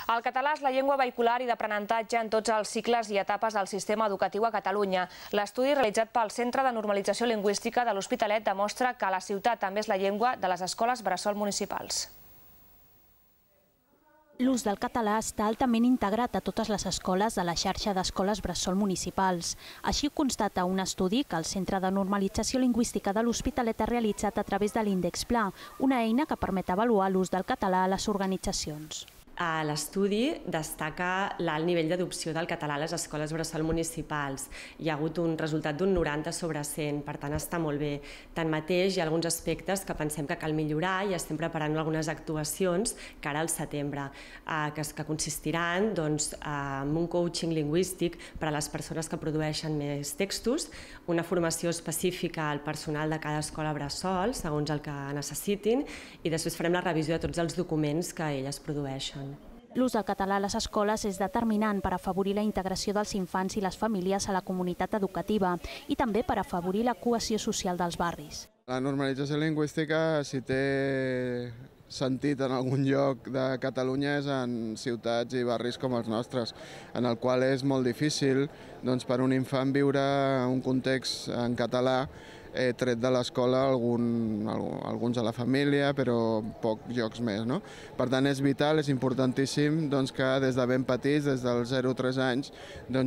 El català és la llengua vehicular i d'aprenentatge en tots els cicles i etapes del sistema educatiu a Catalunya. L'estudi realitzat pel Centre de Normalització Lingüística de l'Hospitalet demostra que la ciutat també és la llengua de les escoles bressol municipals. L'ús del català està altament integrat a totes les escoles de la xarxa d'escoles bressol municipals. Així ho constata un estudi que el Centre de Normalització Lingüística de l'Hospitalet ha realitzat a través de l'Índex Pla, una eina que permet avaluar l'ús del català a les organitzacions. L'estudi destaca l'alt nivell d'adopció del català a les escoles bressol municipals. Hi ha hagut un resultat d'un 90 sobre 100, per tant està molt bé. Tanmateix, hi ha alguns aspectes que pensem que cal millorar i estem preparant algunes actuacions cara al setembre, que consistiran en un coaching lingüístic per a les persones que produeixen més textos, una formació específica al personal de cada escola bressol, segons el que necessitin, i després farem la revisió de tots els documents que elles produeixen. L'ús del català a les escoles és determinant per afavorir la integració dels infants i les famílies a la comunitat educativa i també per afavorir la cohesió social dels barris. La normalització lingüística, si té sentit en algun lloc de Catalunya, és en ciutats i barris com els nostres, en el qual és molt difícil per un infant viure un context en català tret de l'escola, alguns a la família, però pocs llocs més. Per tant, és vital, és importantíssim que des de ben petits, des dels 0-3 anys,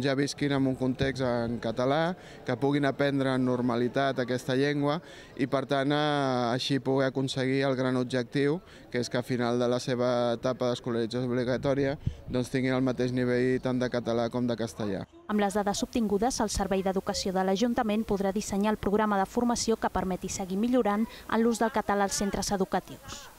ja visquin en un context en català, que puguin aprendre en normalitat aquesta llengua i, per tant, així poder aconseguir el gran objectiu, que és que al final de la seva etapa d'escolarització obligatòria tinguin el mateix nivell tant de català com de castellà. Amb les dades obtingudes, el Servei d'Educació de l'Ajuntament podrà dissenyar el programa de formació que permeti seguir millorant en l'ús del català als centres educatius.